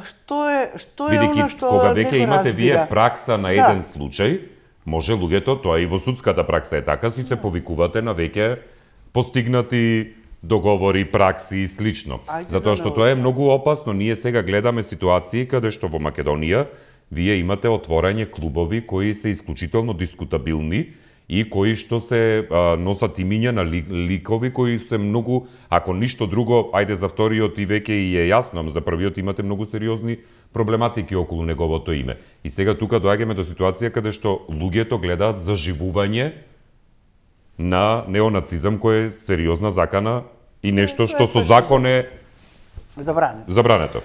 Што е она што кога веќе имате вие пракса на еден случај, може луѓето, тоа и во судската пракса е така, си се повикувате на веќе постигнати договори, пракси и слично. Затоа што тоа е многу опасно. Ние сега гледаме ситуации каде што во Македонија вие имате отворање клубови кои се исклучително дискутабилни и кои што се носат имиња на ликови кои се многу, ако ништо друго, ајде за вториот и веќе и е јасно, за првиот имате многу сериозни проблематики околу неговото име. И сега тука доаѓаме до ситуација каде што луѓето гледаат заживување на неонацизам кој е сериозна закана и нешто што со закон е забрането.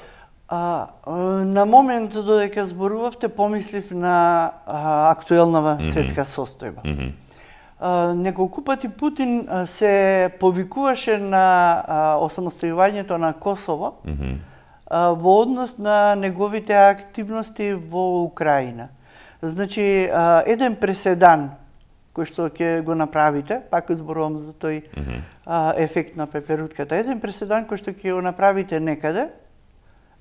На момент додека зборувавте, помислив на актуелнава светска состојба. Неколку пати Путин се повикуваше на осамостојувањето на Косово во однос на неговите активности во Украина. Значи, еден преседан кој што ќе го направите, пак зборувам за тој ефект на пеперутката, еден преседан кој што ќе го направите некаде,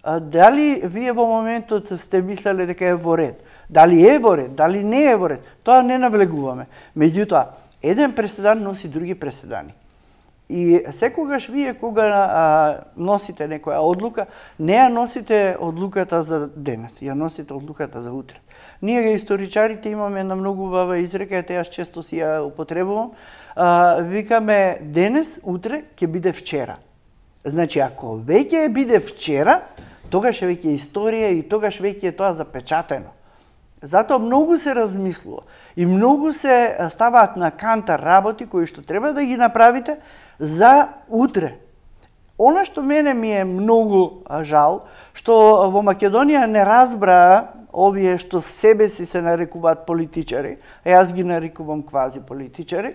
дали вие во моментот сте мислеле дека е во ред? Дали е во ред? Дали не е во ред? Тоа не навлегуваме. Меѓутоа, еден преседан носи други преседани. И секогаш вие кога носите некоја одлука, не ја носите одлуката за денес, ја носите одлуката за утре. Ние историчарите имаме една многу убава изрека, јас често си ја употребувам. Викаме денес, утре ќе биде вчера. Значи, ако веќе биде вчера, тогаш е веќе историја и тогаш веќе е тоа запечатено. Затоа многу се размислува и многу се ставаат на кантар работи кои што треба да ги направите за утре. Она што мене ми е многу жал, што во Македонија не разбраа овие што себе си се нарекуваат политичари, а јас ги нарекувам квази политичари,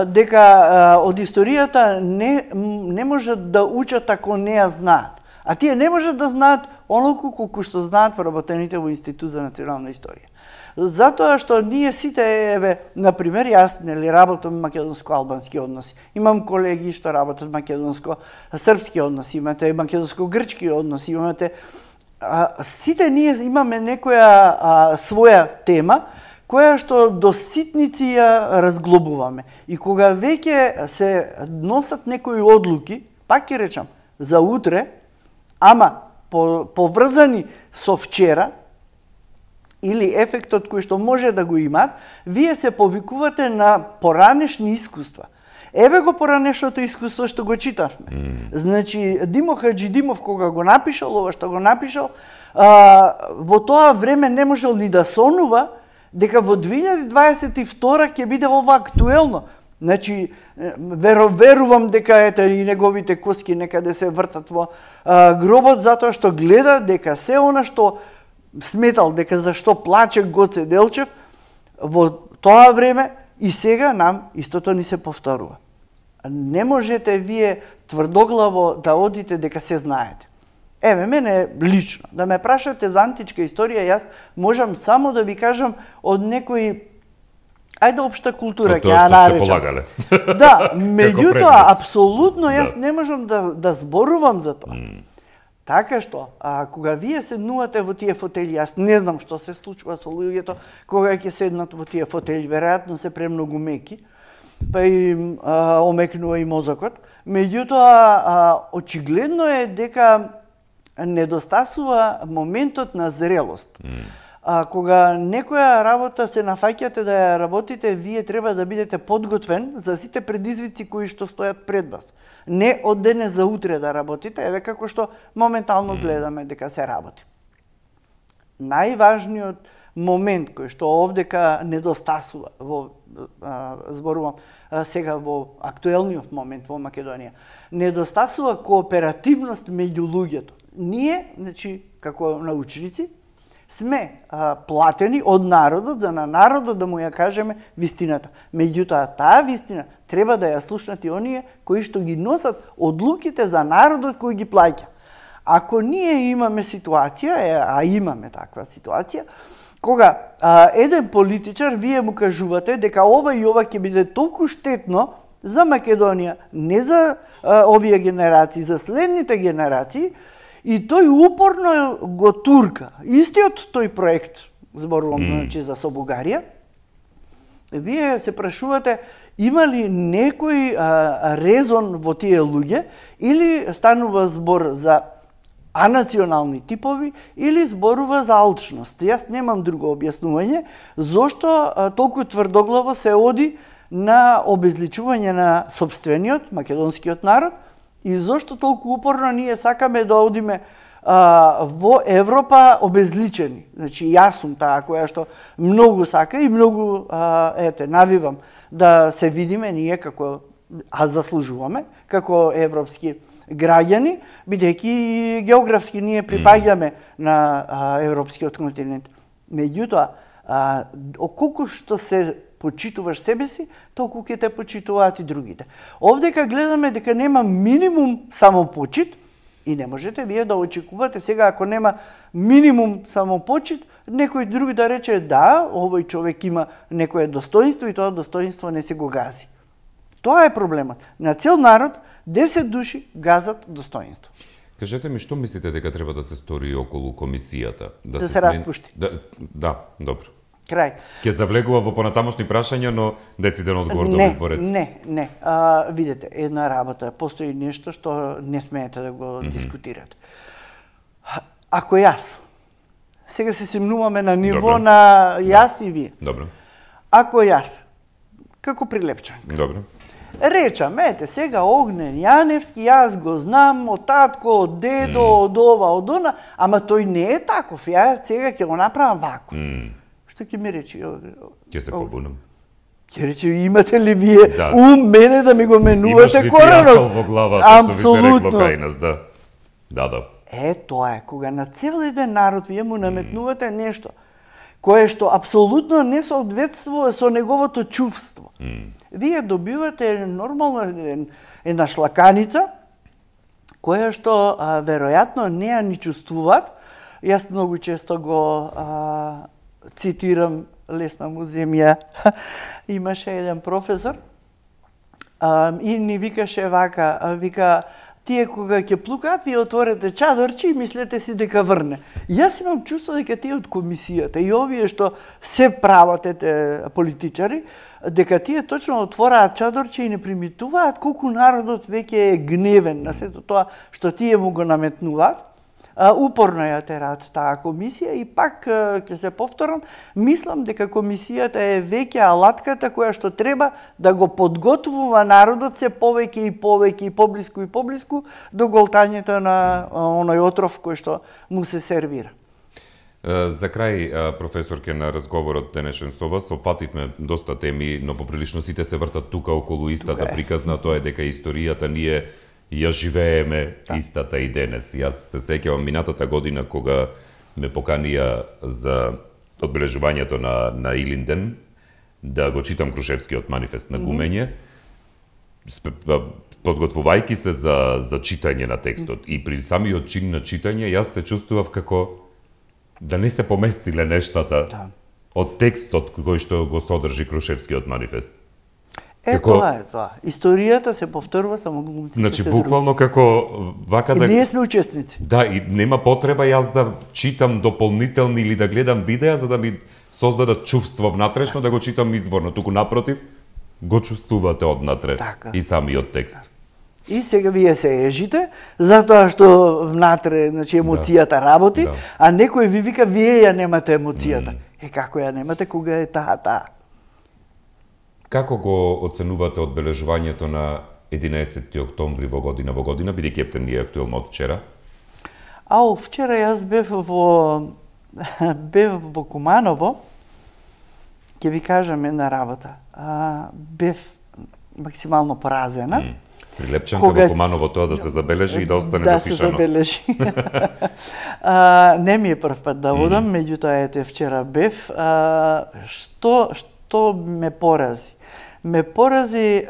дека од историјата не можат да учат ако не ја знаат. А тие не можат да знаат онолку колку што знаат вработените во Институт за национална историја. Затоа што ние сите, еве, например, јас работам македонско-албански односи. Имам колеги што работат македонско-српски односи, имате македонско-грчки односи, имате... Сите ние имаме некоја своја тема, која што до ситници ја разглобуваме. И кога веќе се носат некои одлуки, пак ќе речам, за утре, ама поврзани со вчера, или ефектот кој што може да го имаат, вие се повикувате на поранешни искуства. Еве го поранешното искуство што го читавме. Значи, Димо Хаџидимов кога го напишал, ова што го напишал, во тоа време не можел ни да сонува дека во 2022 ќе биде ова актуелно. Значи, верувам дека и неговите коски некаде се вртат во гробот, затоа што гледа дека се она што сметал дека зашто плаче Гоце Делчев, во тоа време и сега нам истото ни се повторува. Не можете вие тврдоглаво да одите дека се знаете. Еве, мене лично, да ме прашате за античка историја, јас можам само да ви кажам од некои Ајде општа култура ќе ја ја наречам. полагале. Да, меѓутоа предмет. апсолутно јас не можам да зборувам за тоа. Така што, кога вие седнувате во тие фотели, јас не знам што се случува со луѓето кога ќе седнат во тие фотели, веројатно се премногу меки, па им омекнува и мозокот. Меѓутоа, очигледно е дека недостасува моментот на зрелост. Кога некоја работа се нафаќате да ја работите, вие треба да бидете подготвен за сите предизвици кои што стојат пред вас. Не од денес за утре да работите, еве како што моментално гледаме дека се работи. Најважниот момент кој што овдека недостасува зборувам сега во актуелниот момент во Македонија, недостасува кооперативност меѓу луѓето. Ние, значи, како научници, сме платени од народот за на народот да му ја кажеме вистината. Меѓутоа, таа вистина треба да ја слушнат и оние кои што ги носат одлуките за народот кој ги плаќа. Ако ние имаме ситуација, а имаме таква ситуација, кога еден политичар вие му кажувате дека ова и ова ќе биде толку штетно за Македонија, не за овие генерации, за следните генерации, и тој упорно го турка. Истиот тој проект, зборувам значи за со Бугарија, вие се прашувате има ли некој резон во тие луѓе или станува збор за анационални типови или зборува за алчност. Јас немам друго објаснување зошто толку тврдоглаво се оди на обезличување на сопствениот македонскиот народ и зошто толку упорно ние сакаме да одиме во Европа обезличени. Значи, јас сум таа која што многу сака и многу навивам да се видиме ние како, заслужуваме, како европски граѓани, бидејќи географски ние припаѓаме на европскиот континент. Меѓутоа, колку што се почитуваш себе си, толку ќе те почитуваат и другите. Овдека гледаме дека нема минимум самопочит и не можете вие да очекувате сега ако нема минимум самопочит, некој друг да рече да, овој човек има некое достоинство и тоа достоинство не се го гази. Тоа е проблемот. На цел народ 10 души газат достоинство. Кажете ми, што мислите дека треба да се стори околу комисијата? Да се распушти. Да, добро. Крај. Ќе завлегува во понатамошни прашања, но дециден одговор да отворите. Не. Видете, една работа, постои нешто што не смеете да го дискутирате. Ако јас, сега се симнуваме на ниво на јас и вие. Добро. Ако јас, како прилепчанка, Добро. речам, ете, сега Огнен Јаневски, јас го знам од татко, од дедо, од ова, од она, ама тој не е таков, ја сега ќе го направам вако. Што ќе ми речи? Ќе се побунам. Ќе рече, имате ли вие ум мене да ми го менувате коренот? Имаш ли ти акал во главата, што ви се рекло кај нас, да? Да. Тоа е, кога на цел еден народ вие му наметнувате нешто, кое што апсолутно не соодветствува со неговото чувство. Вие добивате нормално една шлаканица, која што веројатно не ја ни чувствуваат. Јас многу често го цитирам Лесна му земја. Имаше еден професор и ни викаше вака, вика, тие кога ќе плукаат, вие отворете чадорче и мислете си дека врне. Јас имам чувство дека тие од комисијата и овие што се прават политичари, дека тие точно отвораат чадорче и не примитуваат колку народот веќе е гневен на сето тоа што тие му го наметнуваат. Упорно ја тераат таа комисија и пак ќе се повторам, мислам дека комисијата е веќе алатката која што треба да го подготвува народот се повеќе и повеќе и поблиску до голтањето на оној отров кој што му се сервира. За крај, професорке, на разговорот денешен со вас, опативме доста теми, но поприлично сите се вртат тука околу истата приказна, тоа е дека историјата ние ја живееме истата и денес. Јас се сеќавам минатата година кога ме поканија за одбележувањето на Илинден да го читам Крушевскиот манифест на гумење, подготвувајќи се за читање на текстот и при самиот чин на читање јас се чувствував како да не се поместиле нештата од текстот кој што го содржи Крушевскиот манифест? Тоа е тоа. Историјата се повторува, само глумците Значи, се буквално како вака да... Ние сме учесници. Да, и нема потреба јас да читам дополнителни или да гледам видеа за да ми создадат чувство внатрешно да го читам изворно. Туку напротив, го чувствувате однатре и самиот текст. И сега вие се ежите, затоа што внатре, значи, емоцијата работи, а некој ви вика, вие ја немате емоцијата. Како ја немате кога е таа? Како го оценувате одбележувањето на 11 октомври во година, бидејќи Ептен е актуелно од вчера? Вчера јас бев во Куманово, ќе ви кажам една работа. Бев максимално поразена. Прилепчанка во Куманово тоа да се забележи и да остане запишано. Да се забележи. Не ми е прв пат да одам, меѓутоа ете вчера бев. Што ме порази? Ме порази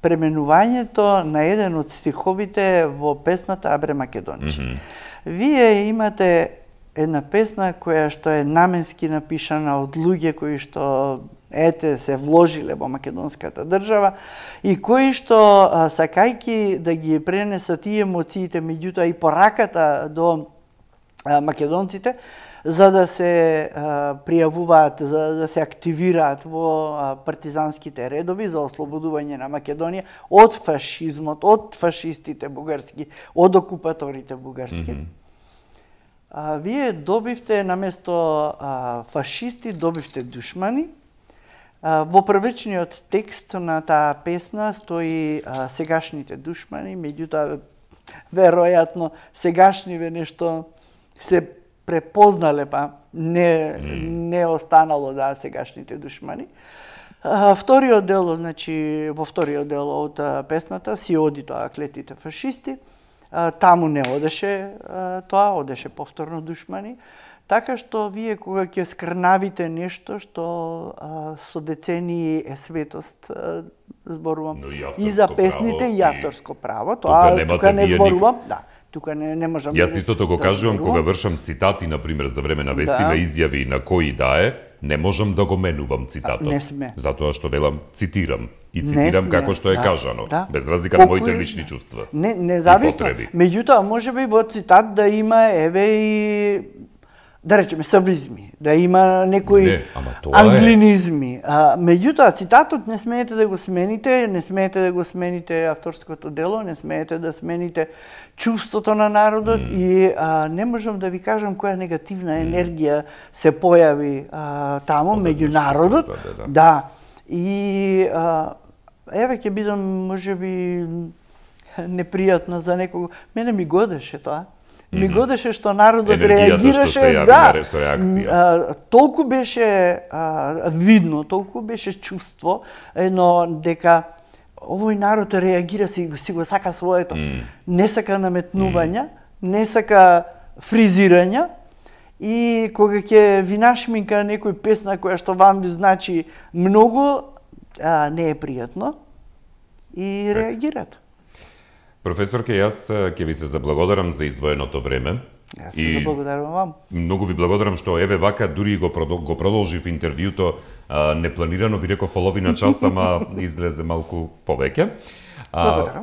пременувањето на еден од стиховите во песната Абре Македонче. Вие имате една песна која што е наменски напишана од луѓе кои што се вложиле во македонската држава и кои што сакајки да ги пренесат и емоциите, меѓутоа и пораката до македонците, за да се пријавуваат, за да се активираат во партизанските редови за ослободување на Македонија од фашизмот, од фашистите бугарски, од окупаторите бугарски. Вие добивте наместо фашисти, добивте душмани. Во првичниот текст на таа песна стои сегашните душмани, меѓутоа веројатно сегашниве нешто се препознале, па не останало сегашните душмани. Вториот дел, значи во вториот дел од песната си оди тоа клетите фашисти. Таму не одеше тоа, одеше повторно душмани. Така што вие кога ќе скрнавите нешто што со децении е светост, зборувам и за песните и авторско право, тоа тука не зборувам, тука не можам. Јас истото го кажувам кога вршам цитати на пример за време на вести на изјави на кои не можам да го менувам цитатот. Не сме. Затоа што велам цитирам и цитирам како што е кажано, без разлика на моите лични чувства. Независно. Меѓутоа можеби во цитат да има и да речеме саблизми, да има некои англинизми. Меѓутоа цитатот не смеете да го смените, не смеете да го смените авторското дело, не смеете да смените чувството на народот и не можам да ви кажам која негативна енергија се појави таму меѓу народот. Да. И еве ќе бидам можеби непријатна за некого. Мене ми годеше тоа. Ми годеше што народот реагираше, толку беше видно, толку беше чувство, едно дека овој народ реагира, си го сака своето, не сака наметнувања, не сака фризирања и кога ќе ви нашминка некој песна која што вам ви значи многу, не е пријатно и реагират. Професорке, јас ќе ви се заблагодарам за издвоеното време. Јас се заблагодарувам вам. Многу ви благодарам што еве вака дури го продолжив интервјуто непланирано, ви реков половина час, ама излезе малку повеќе.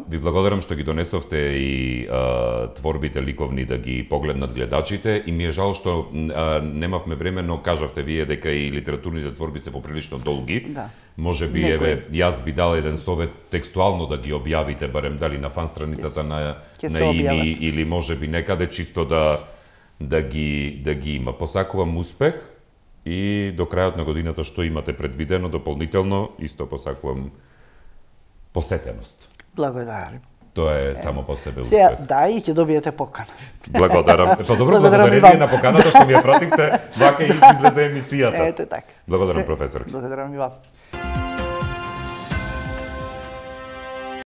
Ви благодарам што ги донесовте и творбите ликовни да ги погледнат гледачите и ми е жал што немавме време, но кажавте вие дека и литературните творби се поприлично долги. Може би еве јас би дал еден совет текстуално да ги објавите, барем дали на фан страницата на ИМИ или може би некаде чисто да ги има. Посакувам успех и до крајот на годината што имате предвидено дополнително, исто посакувам посетеност. Благодарам. Тоа е само по себе успех. Да, и ќе добиете покана. Благодарам. Па добро, благодарение на поканата што ми ја пративте, вака излезе емисијата. Ете така. Благодарам, професор. Благодарам и вам.